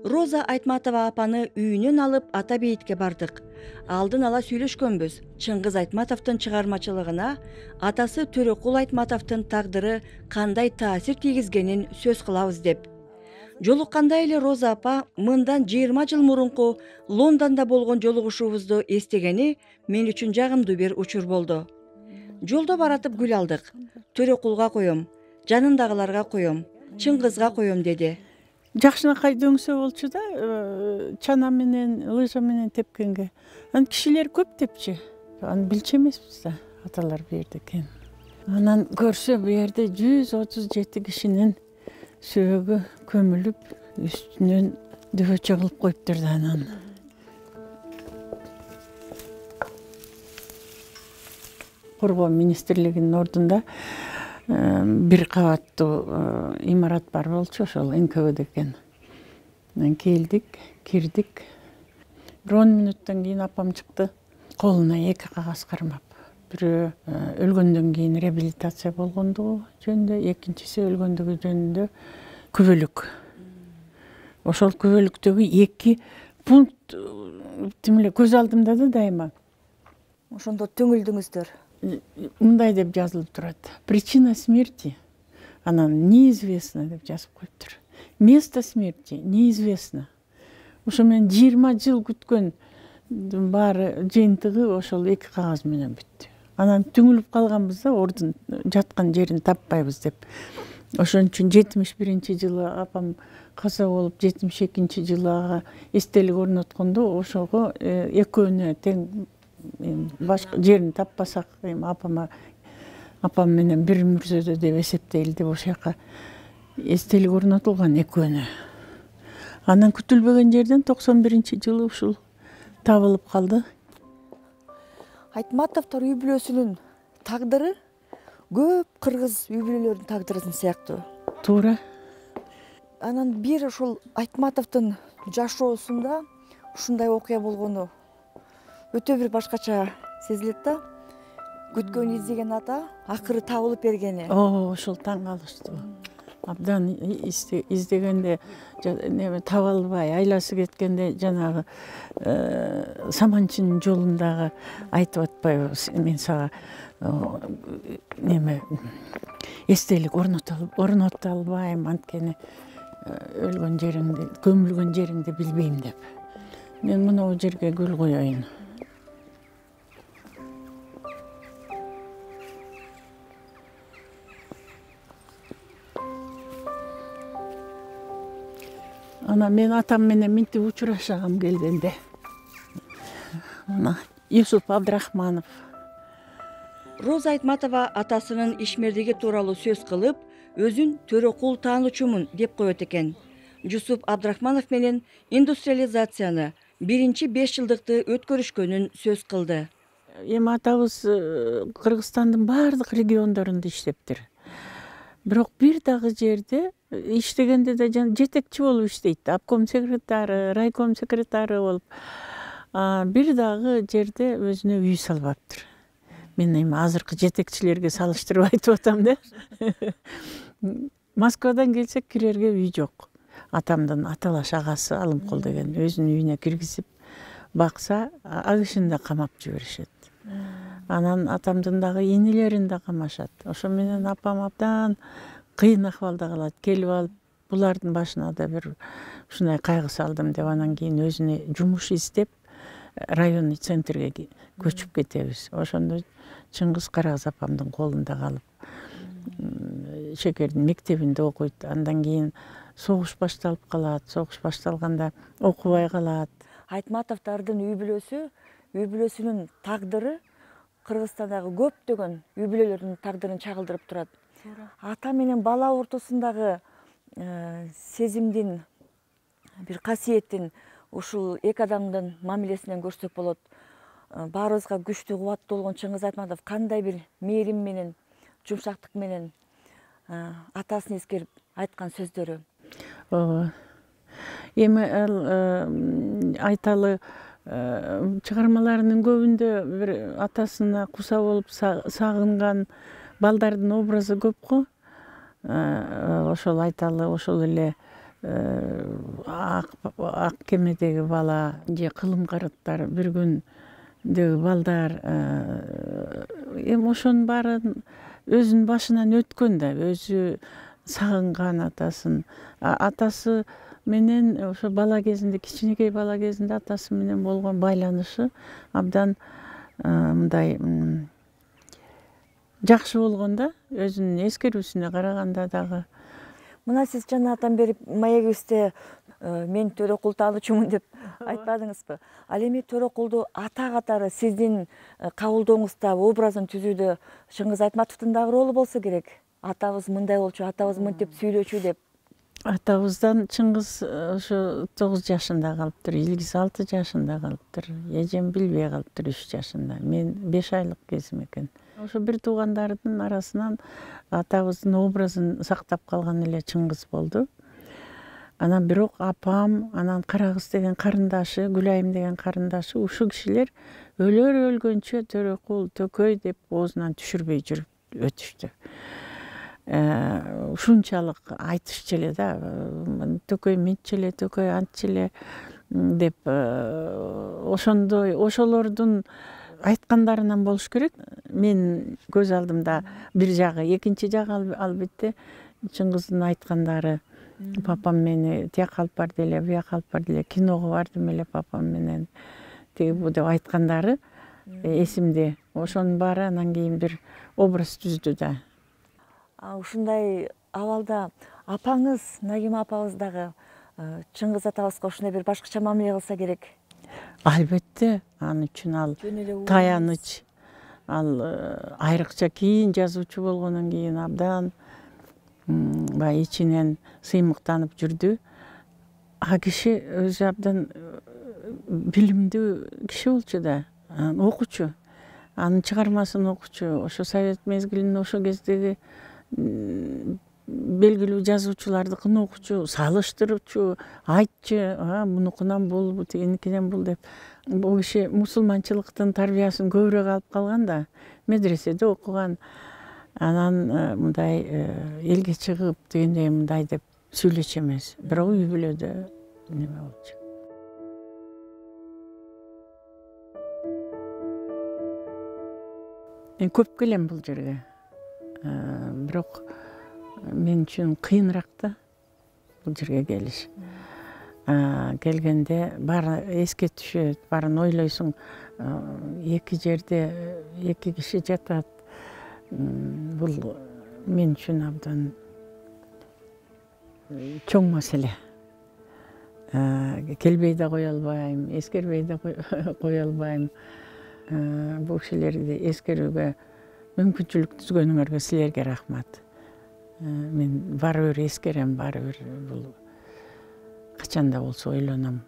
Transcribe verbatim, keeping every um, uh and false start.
Роза Айтматова апаны үйүнөн алып ата бейитке бардык. Алдын ала сүйлөшкөнбүз. Чыңгыз Айтматовдун чыгармачылыгына атасы Төрөкул Айтматовдун тагдыры кандай таасир тийгизгенин сөз кылабыз деп. Жолукканда эле Роза апа мындан жыйырма жыл мурунку Лондондо болгон жолугушуубузду эстегени мен үчүн жагымдуу бир учур болду. Жолдо баратып гүл алдык. Төрөкулга коем, жанындагыларга коем, Чыңгызга коем деди. Жакшынакай дөңсө болчу да, чана менен, лыжа менен тепкенге. Анан кишилер көп тепчи. Аны билчү эмеспиз да, аталар бу жерде экен. Анан көрсө бу жерде жүз отуз жети кишинин сөөгү көмүлүп, үстүнөн дөбөчө кылып коюптур да анан. Коргоо министрлигинин ордунда бир кабаттуу имарат бар болчу, ошол эн ка вэ дэ экен. Анан келдик, кирдик. Бир он мүнөттөн кийин апам чыкты. Колуна эки кагаз кармап. Бирөө өлгөндөн кийин реабилитация болгондугу жөнүндө, экинчиси өлгөндүгү жөнүндө күбөлүк. Ошол күбөлүктөгү эки пункт тимиле көз алдымда да дайыма. Ошондо төңүлдүңүздөр. Мындай деп жазылып турат. Причина смерти, анан неизвестно деп жазып коюптур. Место смерти неизвестно. Ошо мен жыйырма жыл күткөн баары жыйынтыгы ошол эки кагаз менен бүттү. Анан түңүлүп калганбыз да, ордун жаткан жерин таппайбыз деп. Ошон үчүн жетимиш биринчи жылы апам каза болуп, жетимиш экинчи жылы ага эстелик орноткондо ошого экөөнө тең башка жерин таппасак, апама апам менен бир мүрзөдө деп эсептейли деп ошол жака эстелик орнотулган экөөнө. Анан күтүлбөгөн жерден токсон биринчи жылы ушул табылып калды. Айтматовдор үй бүлөсүнүн тагдыры көп кыргыз үй бүлөлөрүнүн тагдыры сыяктуу. Туура. Анан бир ушул Айтматовдун жашоосунда ушундай окуя болгону өтө бир башкача сезилет да. Күткөн издеген ата акыры табылып бергени. О, ошол таң калыштуу. Абдан издегенде неме таба албай, айласы кеткенде жанагы саманчынын жолундагы айтып атпайбы, мен сага неме эстелик орното албайм, анткени өлгөн жериңди, көмүлгөн жериңди билбейм деп. Мен мына бул жерге гүл коеюн. Ана мен атам менен минтип учурашагым келгенде. Мына Юсуп Абдрахманов. Роза Айтматова атасынын ишмердиги тууралуу сөз кылып, өзүн Төрөкул таануучумун деп коет экен. Юсуп Абдрахманов менен индустриализацияны, биринчи беш жылдыкты өткөрүшкөнүн сөз кылды. Эми атабыз Кыргызстандын баардык региондорунда иштептир. Бирок бир дагы жерде иштегенде да жетекчи болуп иштейт. Обком секретары, райком секретары болуп. Бир дагы жерде өзүнө үй салбаптыр. Мен эми азыркы жетекчилерге салыштырып айтып атам да. Москвадан келсек кирерге үй жок. Атамдын аталаш агасы Алымкул деген өзүнүн үйүнө киргизип бакса, ал кишини да камап жиберишет. Анан атамдын дагы инилерин да камашат. Ошо менен апам абдан кыйын акыбалда калат. Келип алып, булардын башына да бир ушундай кайгы салдым деп, анан кийин өзүнө жумуш издеп, районный центрге көчүп кетебиз. Ошондо Чыңгыз Карагыз апамдын колунда калып, Шекердин мектебинде окуйт. Андан кийин согуш башталып калат. Согуш башталганда окубай калат. Айтматовдордун үй бүлөсү, үй бүлөсүнүн тагдыры Кыргызстандагы көптөгөн үй бүлөлөрдүн тагдырын чагылдырып турат. Ата менен бала ортосундагы сезимдин, бир касиеттин ушул эки адамдын мамилесинен көрсөк болот. Баарыбызга күчтүү, кубаттуу болгон Чыңгыз Айтматов кандай бир мээрим менен, жумшактык менен атасын эскерип айткан сөздөрү. Ооба. Эми айталы чыгармаларынын көбүндө бир атасына куса болуп сагынган балдардын образы көп го. Ошол айталы ошол эле ак ак кемедеги бала же кылым карыктар бир күндөгү балдар эми ошонун баарын өзүнүн башынан өткөн да, өзү сагынган атасын. Атасы менен ошо бала кезинде, кичинекей бала кезинде атасы менен болгон байланышы абдан мындай жакшы болгон да, өзүнүн эскерүүсүнө караганда дагы. Мына сиз жанагатан бери маегибизде мен Төрөкул таануучумун деп айтпадыңызбы? Ал эми Төрөкулду ата катары сиздин кабылдооңузда, образын түзүүдө Чыңгыз Айтматовдун дагы ролу болсо керек. Атабыз мындай болчу, атабыз мынтип сүйлөчү деп. Атабыздан Чыңгыз ошо тогуз жашында калыптыр, Илгиз алты жашында калыптыр, эжем билбей калыптыр үч жашында. Мен беш айлык кезим экен. Ошо бир туугандардын арасынан атабыздын образын сактап калган эле Чыңгыз болду. Анан бирок апам, анан Карагыз деген карындашы, Гүлайым деген карындашы, ушул кишилер өлөр өлгөнчө Төрөкул, Төкөй деп оозунан түшүрбөй жүрүп өтүштү. Ушунчалык айтышчу эле да, Төкөй мынтчы эле, Төкөй антчы эле деп, ошондой, ошолордун айткандарынан болуш керек. Мен көз алдымда бир жагы, экинчи жагы албетте Чыңгыздын айткандары. Папам мени тияка алып барды эле, бияка алып барды эле, киного бардым эле папам менен, тиги бу деп айткандары эсимде. Ошонун баары анан кийин бир образ түздү да. Ушундай абалда апаңыз, Нагима апабыз дагы Чыңгыз атабызга ушундай бир башкача мамиле кылса керек. Албетте, ал үчүн ал таяныч. Ал айрыкча кийин жазуучу болгондон кийин абдан баягы ичинен сыймыктанып жүрдү. А киши өзү абдан билимдүү киши болчу да, окучу. Анын чыгармасын окучу. Ошо совет мезгилинде ошол кездеги белгилүү жазуучулардыкын окучу, салыштырчу, айтчу, мунукунан бул, тигиникинен бул деп. Бул киши мусулманчылыктын тарбиясын көбүрөөк алып калган да, медреседе окуган. Анан мындай элге чыгып дегендей мындай деп сүйлөчү эмес, бирок үй бүлөдө неме болчу. Мен көп келем бул жерге. Бирок мен үчүн кыйыныраак да бул жерге келиш. Келгенде баары эске түшөт, баарын ойлойсуң. Эки жерде эки киши жатат. Бул мен үчүн абдан чоң маселе. Келбей да кое албайм, эскербей да кое албайм. Бул кишилерди эскерүүгө мүмкүнчүлүк түзгөнүңөргө силерге рахмат. Мен баары бир эскерем, баары бир бул качан да болсо ойлоном.